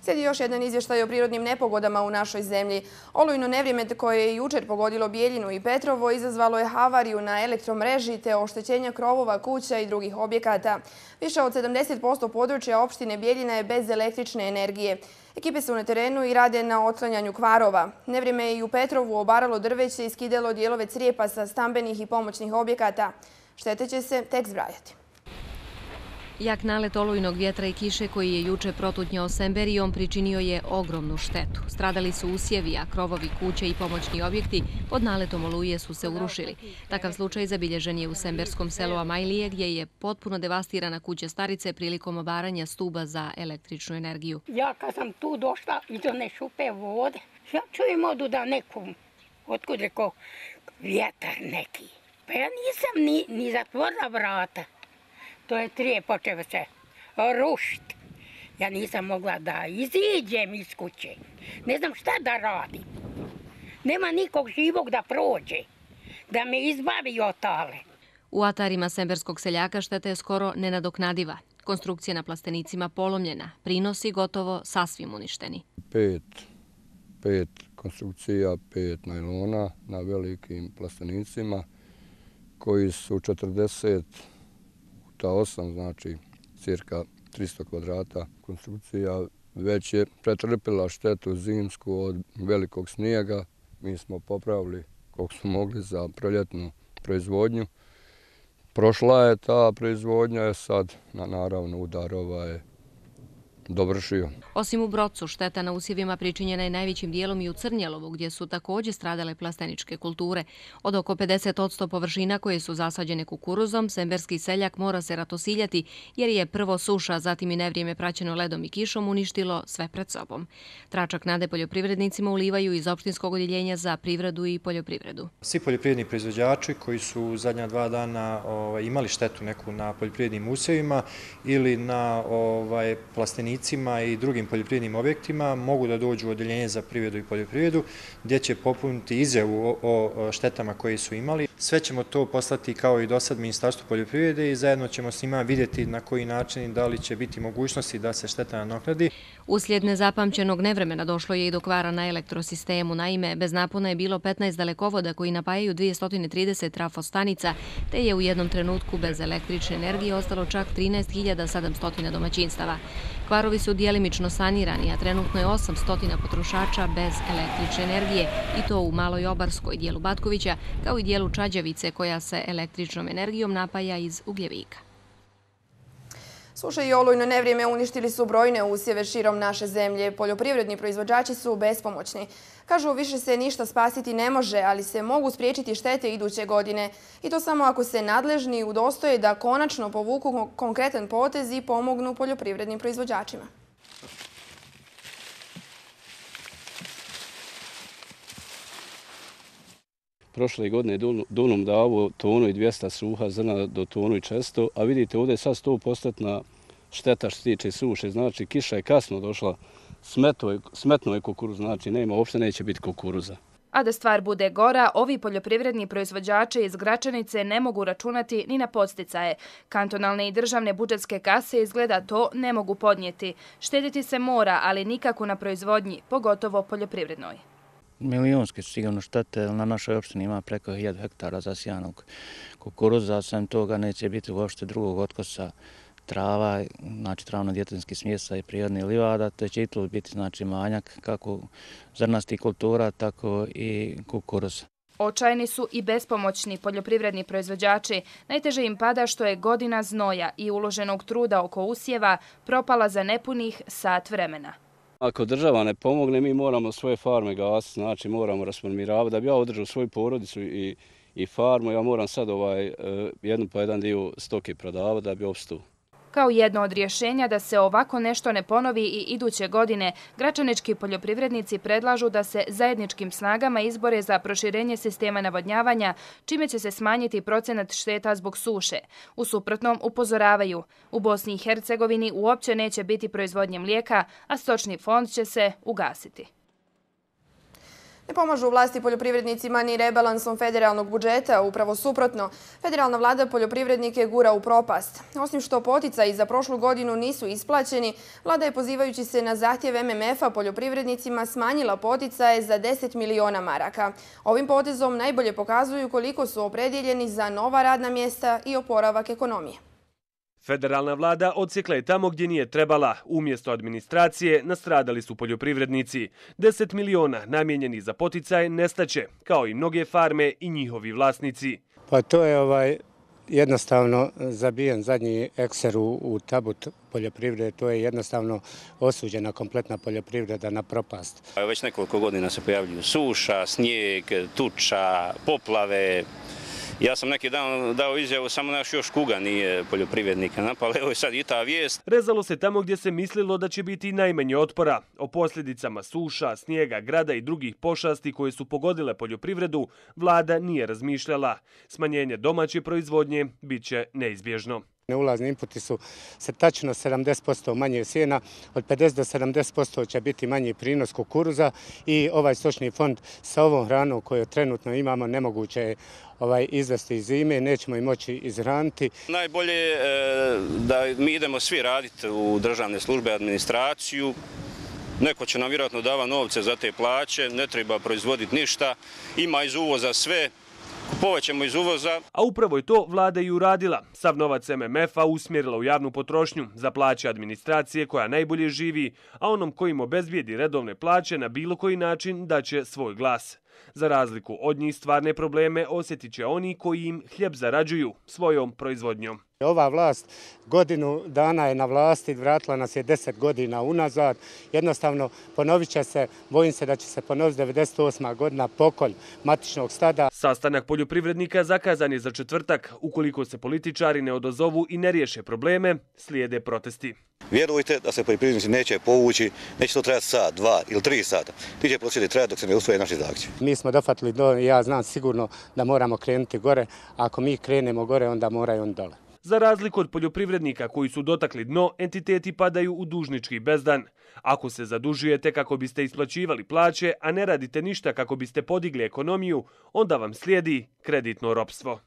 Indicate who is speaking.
Speaker 1: Slijedi još jedan izvještaj o prirodnim nepogodama u našoj zemlji. Olujno nevrijeme koje je jučer pogodilo Bijeljinu i Petrovo izazvalo je havariju na elektromreži te oštećenja krovova, kuća i drugih objekata. Više od 70% područja opštine Bijeljina je bez električne energije. Ekipe su na terenu i rade na otklanjanju kvarova. Nevrijeme je i u Petrovu obaralo drveće i skidalo dijelove crijepa sa stambenih i pomoćnih objekata. Štete će se tek zbrajati.
Speaker 2: Jak nalet olujnog vjetra i kiše koji je juče protutnjao Semberijom pričinio je ogromnu štetu. Stradali su usjevi, a krovovi kuće i pomoćni objekti pod naletom oluje su se urušili. Takav slučaj zabilježen je u semberskom selu Amajlije gdje je potpuno devastirana kuća starice prilikom obaranja stuba za električnu energiju.
Speaker 3: Ja kad sam tu došla iz one šupe vode, ja čujem odu da nekom, otkud rekao, vjetar neki. Pa ja nisam ni zatvorila vrata. To je trije počeo se rušiti. Ja nisam mogla da iziđem iz kuće. Ne znam šta da radim. Nema nikog živog da prođe, da me izbavi od tale.
Speaker 2: U atarima semberskog seljaka šteta je skoro nenadoknadiva. Konstrukcija na plastenicima polomljena, prinosi gotovo sasvim uništeni.
Speaker 4: Pet konstrukcija, 5 najlona na velikim plastenicima koji su 40 puta 8, znači cirka 300 kvadrata. Konstrukcija već je pretrpila štetu zimsku od velikog snijega. Mi smo popravili koliko smo mogli za proljetnu proizvodnju. Prošla je ta proizvodnja, sad naravno udar je dovršio.
Speaker 2: Osim u Brocu, šteta na usjevima pričinjena je najvećim dijelom i u Crnjelovu, gdje su također stradale plasteničke kulture. Od oko 50% površina koje su zasađene kukuruzom, semberski seljak mora se ratosiljati jer je prvo suša, zatim i nevrijeme praćeno ledom i kišom uništilo sve pred sobom. Tračak nade poljoprivrednicima ulivaju iz opštinskog odjeljenja za privredu i poljoprivredu.
Speaker 5: Svi poljoprivredni proizvođači koji su zadnja 2 dana imali štetu neku na poljoprivrednim usjevima ili na plastenicima i drugim poljoprivrednim objektima mogu da dođu u odjeljenje za privredu i poljoprivredu gdje će popuniti izjavu o štetama koje su imali. Sve ćemo to poslati kao i do sad Ministarstvu poljoprivrede i zajedno ćemo s njima vidjeti na koji način i da li će biti mogućnosti da se šteta nadoknadi.
Speaker 2: Uslijed nezapamćenog nevremena došlo je i do kvara na elektrosistemu. Naime, bez napona je bilo 15 dalekovoda koji napajaju 230 trafostanica, te je u jednom trenutku bez električne energije ostalo čak 13.700 domaćinstava. Kvarovi su dijelimično sanirani, a trenutno je 800 potrošača bez električne energije, i to u Maloj Obarskoj, dijelu Batkovića, kao i dijelu Čađavice koja se električnom energijom napaja iz ugljevika.
Speaker 1: Suša i olujno nevrijeme uništili su brojne usjeve širom naše zemlje. Poljoprivredni proizvođači su bespomoćni. Kažu, više se ništa spasiti ne može, ali se mogu spriječiti štete iduće godine. I to samo ako se nadležni udostoje da konačno povuku konkretan potez i pomognu poljoprivrednim proizvođačima.
Speaker 6: Prošle godine Dunum davo tonu i 200 suha zrna do tonu i 400, a vidite ovdje je sad 100% šteta što se tiče suše. Znači kiša je kasno došla, smetno je kukuruz, znači uopšte neće biti kukuruza.
Speaker 7: A da stvar bude gora, ovi poljoprivredni proizvođači iz Gračanice ne mogu računati ni na podsticaje. Kantonalne i državne budžetske kase izgleda to ne mogu podnijeti. Štediti se mora, ali nikako na proizvodnji, pogotovo poljoprivrednoj.
Speaker 8: Milijonske su sigurno štete, na našoj opštini ima preko 1000 hektara zasijanog kukuruza, sem toga neće biti uopšte drugog otkosa trava, znači travno-djetinjskih smjesa i prirodnih livada, te će i tu biti znači manjak kako zrnastih kultura, tako i kukuruza.
Speaker 7: Očajni su i bespomoćni poljoprivredni proizvođači. Najteže im pada što je godina znoja i uloženog truda oko usjeva propala za nepunih sat vremena.
Speaker 6: Ako država ne pomogne, mi moramo svoje farme gasiti, znači moramo rasformiravati. Da bi ja održao svoju porodicu i farmu, ja moram sad jednu po jedan dio stoke prodavati da bi opstao.
Speaker 7: Kao jedno od rješenja da se ovako nešto ne ponovi i iduće godine, gračanički poljoprivrednici predlažu da se zajedničkim snagama izbore za proširenje sistema navodnjavanja, čime će se smanjiti procenat šteta zbog suše. U suprotnom, upozoravaju, u Bosni i Hercegovini uopće neće biti proizvodnje mlijeka, a stočni fond će se ugasiti.
Speaker 1: Ne pomažu vlasti poljoprivrednicima ni rebalansom federalnog budžeta, upravo suprotno. Federalna vlada poljoprivrednike gura u propast. Osim što poticaji za prošlu godinu nisu isplaćeni, vlada je pozivajući se na zahtjev MMF-a poljoprivrednicima smanjila poticaje za 10 miliona maraka. Ovim potezom najbolje pokazuju koliko su opredjeljeni za nova radna mjesta i oporavak ekonomije.
Speaker 9: Federalna vlada odsjekla je tamo gdje nije trebala. Umjesto administracije nastradali su poljoprivrednici. 10 miliona namijenjeni za poticaje nestaće, kao i mnoge farme i njihovi vlasnici.
Speaker 10: Pa to je jednostavno zabijen zadnji ekser u tabut poljoprivrede. To je jednostavno osuđena kompletna poljoprivreda na propast.
Speaker 11: Već nekoliko godina se pojavljuju suša, snijeg, tuča, poplave. Ja sam neki dan dao izjavu, samo naš još kuga nije poljoprivrednika napala, evo je sad i ta vijest.
Speaker 9: Rezalo se tamo gdje se mislilo da će biti najmanje otpora. O posljedicama suša, snijega, grada i drugih pošasti koje su pogodile poljoprivredu, vlada nije razmišljala. Smanjenje domaće proizvodnje bit će neizbježno.
Speaker 10: Ulazni inputi su se tačno 70% manje sjena, od 50 do 70% će biti manji prinos kukuruza i ovaj stočni fond sa ovom hranom koju trenutno imamo nemoguće je izvesti iz zime, nećemo i moći izhraniti.
Speaker 11: Najbolje je da mi idemo svi raditi u državne službe, administraciju. Neko će nam vjerojatno davati novce za te plaće, ne treba proizvoditi ništa, ima iz uvoza sve. Kupovat ćemo iz uvoza.
Speaker 9: A upravo je to vlada i uradila. Sav novac MMF-a usmjerila u javnu potrošnju za plaće administracije koja najbolje živi, a onom kojim obezbijedi redovne plaće na bilo koji način daće svoj glas. Za razliku od njih stvarne probleme osjetit će oni koji im hljeb zarađuju svojom proizvodnjom.
Speaker 10: Ova vlast godinu dana je na vlasti, vratila nas je 10 godina unazad. Jednostavno ponovit će se, bojim se da će se ponoviti 98. godina pokolj matičnog stada.
Speaker 9: Sastanak poljoprivrednika zakazan je za četvrtak. Ukoliko se političari ne odazovu i ne riješe probleme, slijede protesti.
Speaker 12: Vjerujte da se poljoprivrednici neće povući, neće to trajati sat, 2 ili 3 sata. Ti će prosvjedi trajati dok se ne usvoje naši zahtjevi.
Speaker 10: Mi smo dofatili ja znam sigurno da moramo krenuti gore. Ako mi krenemo gore, onda moraju on dole.
Speaker 9: Za razliku od poljoprivrednika koji su dotakli dno, entiteti padaju u dužnički bezdan. Ako se zadužujete kako biste isplaćivali plaće, a ne radite ništa kako biste podigli ekonomiju, onda vam slijedi kreditno ropstvo.